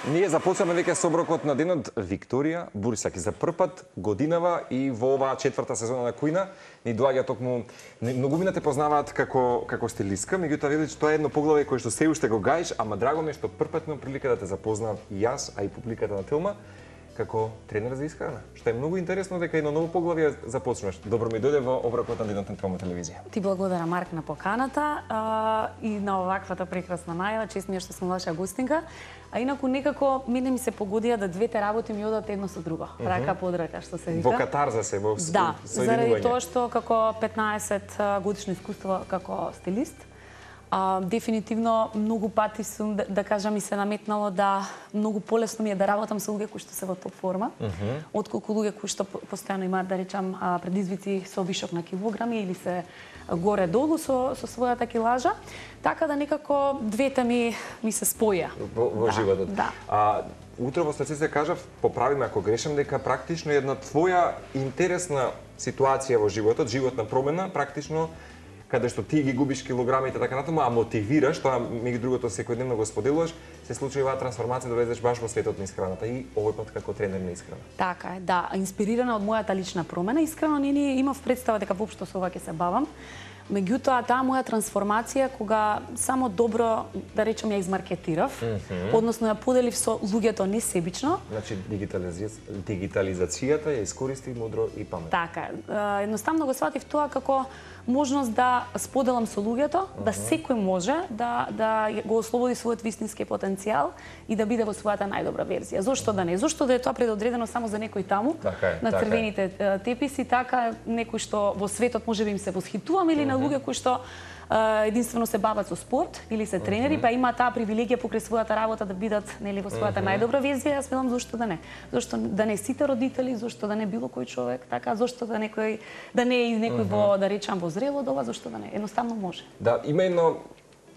Ние започнаме веќе соброкот на денот Викторија Бурсаки. За прв пат годинава и во оваа четврта сезона на Куина ни доаѓа токму многумина те познаваат како стилистка, меѓутоа велиш тоа е едно поглавје кое што се уште го гаиш, ама драго ми е што прв пат имам прилика да те запознам и јас, а и публиката на Телма како тренер за исхрана. Што е многу интересно дека едно ново поглавје започнуваш. Добро ми дојде во оброкот на денот на Телма телевизија. Ти благодарам, Марк, на поканата и на оваквата прекрасна најава. Чест ми е што сум ваша гостинка. А инаку некако мене ми се погодија да двете работи ми одат едно со друго. Рака под рака, што се вика. Во катарза се, во соединување. Да, заради тоа што како 15 годишно искуство како стилист, дефинитивно многу пати сум, да кажам, ми се наметнало да многу полесно ми е да работам со луѓе кои што се во топ форма, отколку луѓе кои што постојано имаат, да речам, предизвици со вишок на килограми или се горе-долу со својата килажа. Така да некако двете ми се споја. Во животот. Да. Утре во стација се кажав, поправиме ако грешам, дека практично една твоја интересна ситуација во животот, животна промена, практично каде што ти ги губиш килограмите така натаму, а мотивираш, тоа меѓу другото секојдневно го споделуваш, се случи оваа трансформација да влезеш баш во светот на исхраната и овој пат како тренер на исхрана. Така е, да, инспирирана од мојата лична промена, искрено не имав представа дека воопшто со ова ќе се бавам. Меѓутоа, таа моја трансформација, кога само добро, да речем, ја измаркетирав, односно ја поделив со луѓето несебично. Значи, дигитализацијата ја искористи мудро и паметно. Така, едноставно го сватив тоа како можност да споделам со луѓето, да секој може да го ослободи својот вистински потенцијал и да биде во својата најдобра верзија. Зошто да не? Зошто да е тоа предодредено само за некој таму, на црвените теписи, така некој што во светот можеби им се восхитувам, или на луѓе кои што единствено се бават со спорт или се тренери, па има таа привилегија покрај својата работа да бидат нели во својата најдобра верзија. Јас велам зошто да не? Зошто да не сите родители, зошто да не било кој човек, така зошто да не е и некој во, да речам, во зрело доба, зошто да не? Едноставно може. Да, има едно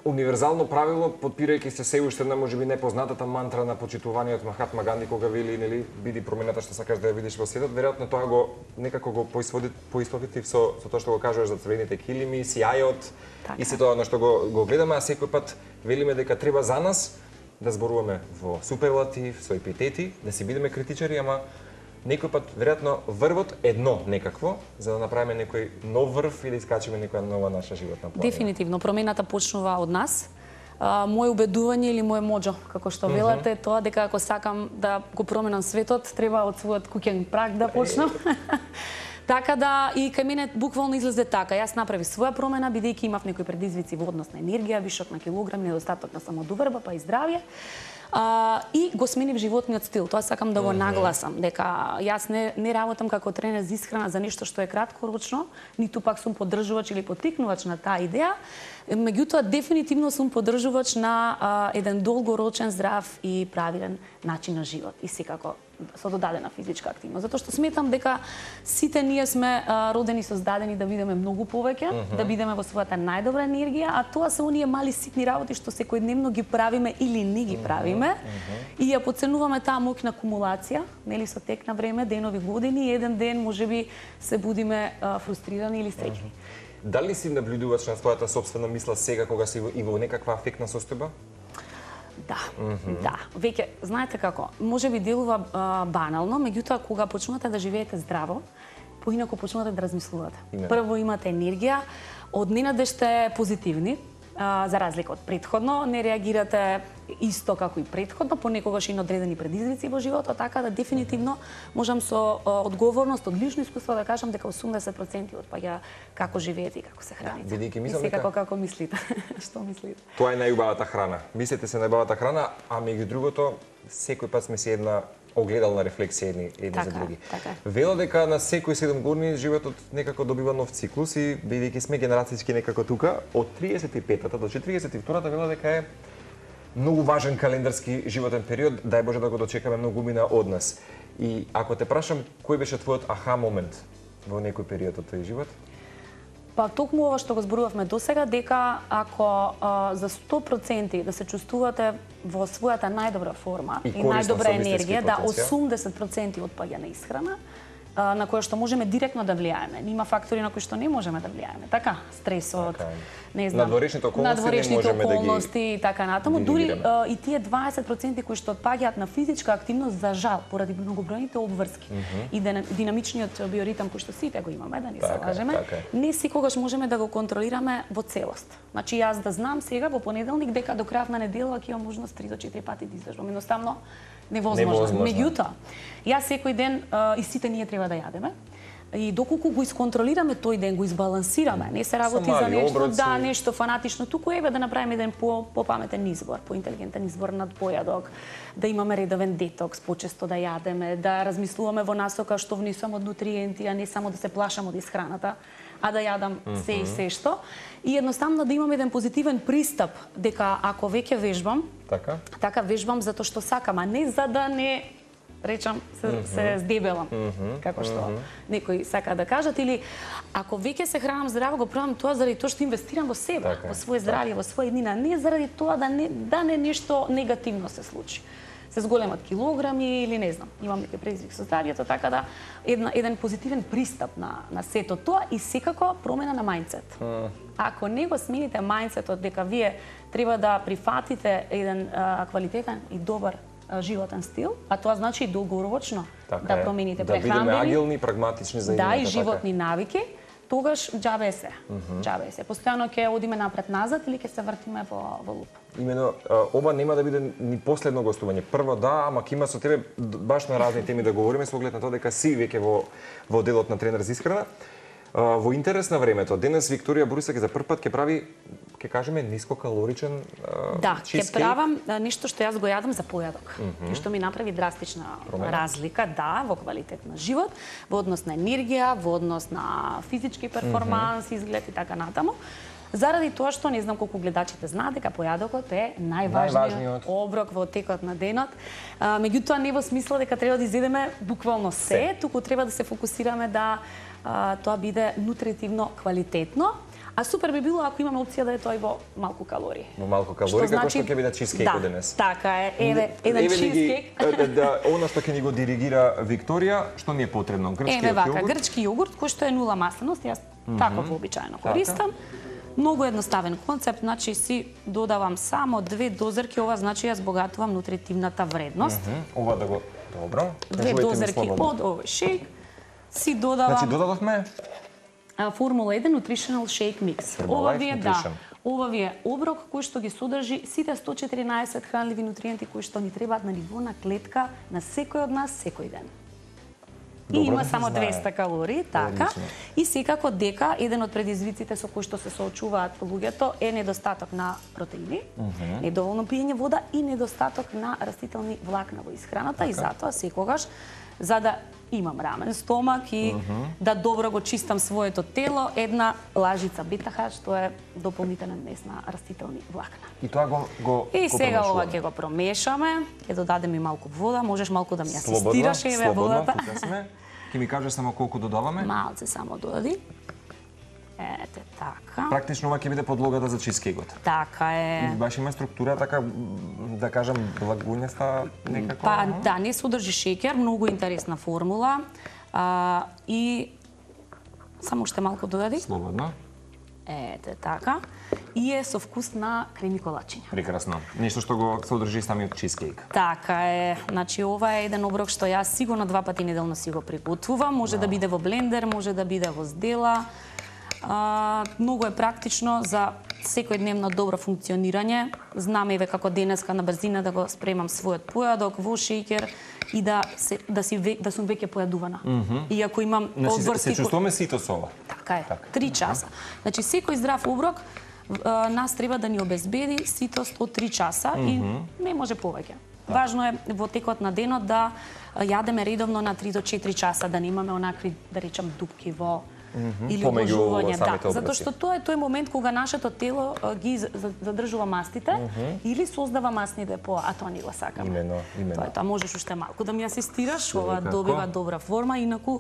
универзално правило, подпирајќи се уште на можеби непознатата мантра на почитуваниот Махатма Ганди, кога вели, нели, биди промената што сакаш да ја видиш во светот, веројатно тоа го некако го поистоветив со тоа што го кажуваш за црвените килими, сијајот и се тоа на што го гледаме, а секој пат велиме дека треба за нас да зборуваме во суперлатив, со епитети, да си бидеме критичари, ама некој пат, веројатно, врвот едно некакво, за да направиме некој нов врв и да искачиме некоја нова наша животна планина. Дефинитивно, промената почнува од нас. Моje убедување или моje моџо, како што велате, тоа дека ако сакам да го променам светот, треба од својот куќен праг да почнам. Така да и кај мене буквално излезе така. Јас направив своја промена, бидејќи имав некои предизвици во однос на енергија, вишок на килограм, недостаток на самодоверба, па и здравје. И го сменив животниот стил. Тоа сакам да го нагласам, дека јас не работам како тренер за исхрана за нешто што е краткорочно, ниту пак сум поддржувач или поттикнувач на таа идеја. Меѓутоа, дефинитивно сум поддржувач на еден долгорочен, здрав и правилен начин на живот. И секако со додадена физичка активност. Затоа што сметам дека сите ние сме родени, создадени да бидеме многу повеќе, да бидеме во својата најдобра енергија, а тоа се оние мали ситни работи што секојдневно ги правиме или не ги правиме и ја подценуваме таа моќна кумулација, нели, со тек на време, денови, години, и еден ден можеби се будиме фрустрирани или среќни. Дали си наблюдуваш на својата сопствена мисла сега кога си и во некаква афектна состојба? Да, да. Веќе, знаете како, можеби делува банално, меѓутоа кога почнувате да живеете здраво, поинаку почнувате да размислувате. Прво имате енергија, одненадеж сте позитивни, за разлика од претходно, не реагирате исто како и претходно, понекогаш и на одредени предизвици во животот, така да дефинитивно можам со одговорност од лично искуство да кажам дека 80% отпаѓа како живеете и како се храните. Бидејќи мислам дека како мислите. Што мислите? Тоа е најубавата храна. Мислите се најубавата храна, а меѓу другото секој пат сме си една огледална рефлексија едни за други. Вело дека на секој 7 години животот некако добива нов циклус и бидејќи сме генерацијски некако тука, од 35-та до 42-та вело дека е многу важен календарски животен период, дај Боже да го дочекаме многумина од нас. И ако те прашам, кој беше твојот аха момент во некој период од тој живот? Па токму ова што го зборувавме досега, дека ако за 100% да се чувствувате во својата најдобра форма и најдобра енергија, да 80% отпаѓа на исхрана, на која што можеме директно да влијаеме. Има фактори на кои што не можеме да влијаеме. Така, стресот, не знам, надворешните околности и така натаму. Дури диригираме. и тие 20% кои што отпаѓаат на физичка активност, за жал, поради многобројните обврски и динамичниот биоритам кој што сите го имаме, да не се лажеме, не секогаш можеме да го контролираме во целост. Значи јас да знам сега во понеделник дека до крајот на неделя ќе имам можност 3 до 4 пати да излежам. Едноставно невозможно. Меѓутоа, јас секој ден и сите ние треба да јадеме. И доколку го исконтролираме тој ден, го избалансираме, не се работи за нешто, да, нешто фанатично, туку еве да направиме еден попаметен избор, поинтелигентен избор над појадок, да имаме редовен детокс, почесто да јадеме, да размислуваме во насока што внесуваме од нутриенти, а не само да се плашам од исхраната, а да јадам се и се што. И едноставно да имам еден позитивен пристап дека ако веќе вежбам, така вежбам затоа што сакам, а не за да не речам се здебелам, како што некои сака да кажат, или ако веќе се хранам здраво, го правам тоа заради тоа што инвестирам во себе, во своје здравје, во своја иднина, не заради тоа да не нешто негативно се случи. Се зголемат килограми или не знам, имам некој предизвик со здравјето, така да еден позитивен пристап на сето тоа и секако промена на мајндсет. Ако не го смените мајндсетот дека вие треба да прифатите еден квалитетен и добар животен стил, а тоа значи и долгорочно да промените прехранбени, да бидеме агилни, прагматични за да, и животни навики, тогаш џабе се. Постојано ќе одиме напред-назад или ќе се вртиме во луп. Имено, ова нема да биде ни последно гостување. Прво да, ама ќе има со тебе баш на разни теми да говориме со оглед на тоа дека си веќе во делот на тренер за исхрана. Во интерес на времето, денес Викторија Борисак за прв пат ќе прави, ќе кажеме, нискокалоричен чизкейк. Ќе правам нешто што јас го јадам за појадок, и што ми направи драстична разлика, да, во квалитет на живот, во однос на енергија, во однос на физички перформанс, изглед и така натаму. Заради тоа што не знам колку гледачите знаат дека појадокот е најважниот оброк во текот на денот. Меѓутоа не во смисла дека треба да изедеме буквално се, туку треба да се фокусираме да тоа биде нутритивно квалитетно. А супер би било ако имаме опција да е тоа и во малку калории. Во малку калории, како што ќе биде чизкейкот денес. Така е, еден чизкейк. Она што ќе ни го диригира Викторија, што ни е потребно? Грчки јогурт? Грчки јогурт кој што е 0 масленост, јас таков вообичаено користам. Многу едноставен концепт, значи си додавам само 2 дозерки, ова значи ја збогатувам нутритивната вредност. Ова да го добро. 2 дозерки од овој шејк си додавам. Значи додадовме Формула 1 Nutritional Shake Mix. Ова ви е оброк кој што ги содржи сите 114 хранливи нутриенти кои што ни требаат на ниво на клетка на секој од нас секој ден. И има само 200 калории, така. И секако дека еден од предизвиците со кои што се соочуваат луѓето е недостаток на протеини, недоволно пиење вода и недостаток на растителни влакна во исхраната и затоа секогаш за да имам рамен стомак и да добро го чистам своето тело, една лажица бета-хар што е дополнителен вмес на растителни влакна. И тоа го И сега ова ќе го промешаме, ќе додадеме и малку вода, можеш малку да ми асистираш еве водата. Ќе ми кажеш само колку додаваме? Малце само додади. Ете така. Практично ова ќе биде подлогата за чизкейкот. Така е. Баш има структура така, да кажам, благуњаста некако. Па да, не содржи шеќер, многу интересна формула. И само уште малку додади. Слободно. Ете така. И е со вкус на креми колачиња. Прекрасно. Нешто што го содржи самиот чизкейк. Така е. Значи ова е еден оброк што јас сигурно 2 пати неделно си го приготвувам. Може да биде во блендер, може да биде во здела. Многу е практично за секојдневно добро функционирање. Знам еве како денеска на брзина да го спремам својот појадок во шеќер и да сум веќе појадувана. И ако имам се чувствуваме сито со ова. Така е. 3 часа. Значи секој здрав оброк нас треба да ни обезбеди ситост од 3 часа и не може повеќе. Важно е во текот на денот да јадеме редовно на 3 до 4 часа, да немаме онакви, да речам, дупки во или одложување, затоа што тоа е тој момент кога нашето тело ги задржува мастите или создава масни депоа, а тоа не го сакаме. Имено. Тоа можеш уште малку да ми асистираш, ова добива добра форма, инаку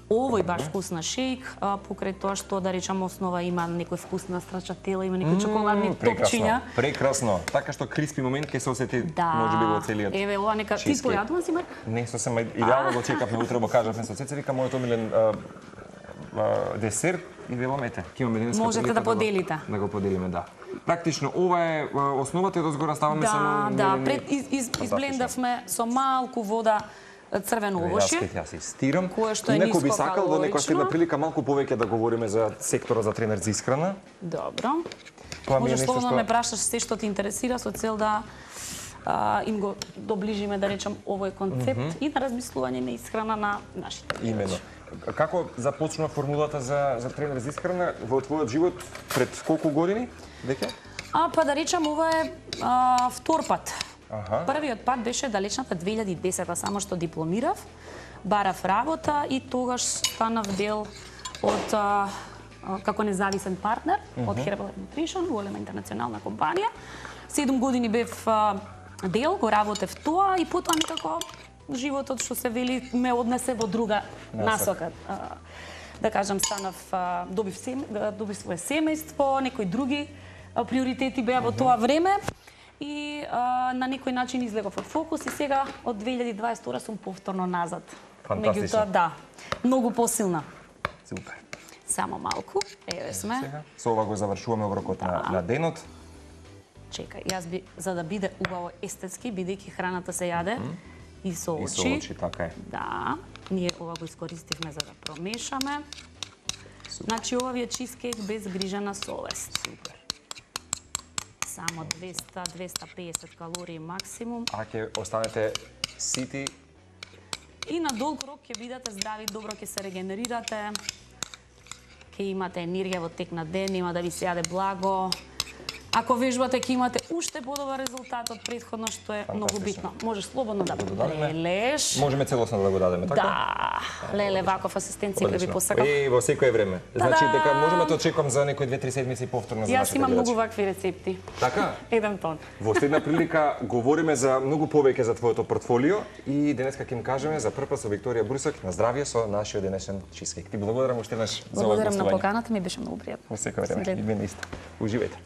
овој баш вкусна шејк, покрај тоа што, да речам, основа има некој вкус на страчатела, има некои чоколадни топчиња. Прекрасно. Така што криспи момент ќе се осети можеби во целиот. Еве ова нека ти појадувам си, Марк? Не, сосема идеално го чекавме утре, го кажавме со Цеца, вика мојот омилен десерт, и велам ете, ќе имаме денеска Можете прилика да поделите. Да го поделиме, да. Практично ова е основата и дозгора ставаме само Да, пред изблендавме со малку вода црвено овошје. Јас се стирам. Кое што е Некој би сакал во некоја нискокалорично. следна прилика малку повеќе да говориме за секторот за тренер за исхрана. Добро. Тоа ми е Можеш нешто слободно што ме прашаш се што те интересира со цел да им го доближиме, да речам, овој концепт и на размислување на исхрана на нашите гледачи. именно. Како започнува формулата за тренер за исхрана во твојот живот пред колку години веќе? Па да речам, ова е втор пат. Аха. Првиот пат беше далечната 2010-та, само што дипломирав, барав работа и тогаш станав дел од како независен партнер од Herbalife Nutrition, голема интернационална компанија. 7 години бев дел, го работев тоа и потоа некако животот, што се вели, ме однесе во друга насока. Да кажам, станав, добив свое семејство, некои други приоритети беа во тоа време и на некој начин излегов од фокус и сега од 2022 сум повторно назад. Фантастично. Меѓутоа, да, многу посилна. Супер. Само малку, еве сме. Сега, со ова го завршуваме оброкот на денот. Чекај, јас би, за да биде убаво естетски, бидејќи храната се јаде и со очи. И со очи, така е. Да, ние ова го искористивме за да промешаме. Значи, ова ви е чизкейк без грижа на совест. Супер. Само 200-250 калории максимум. А ќе останете сити. И на долг рок ќе бидете здрави, добро ќе се регенерирате. Ќе имате енергија во тек на ден, нема да ви се јаде благо. Ако вежбате, ќе имате уште подобар резултат од претходно, што е многу битно. Можеш слободно да лелеш. Можеме целосно да го дадеме, така? Да, леле, ваков асистенција ќе ви посакам. И во секое време. Значи дека можеме да очекувам за некои 2-3 седмици повторно за Јас нашите имам гледачи. многу вакви рецепти. Така? Еден тон. Во следна прилика говориме за многу повеќе за твоето портфолио и денеска ќе им кажеме за прв пат со Викторија Брусак на здравје со нашиот денешен чизкейк. Ти благодарам уште еднаш за ова Благодарам на гостување. поканата, ми беше многу пријатно. Во секое време. И мене исто. Уживајте.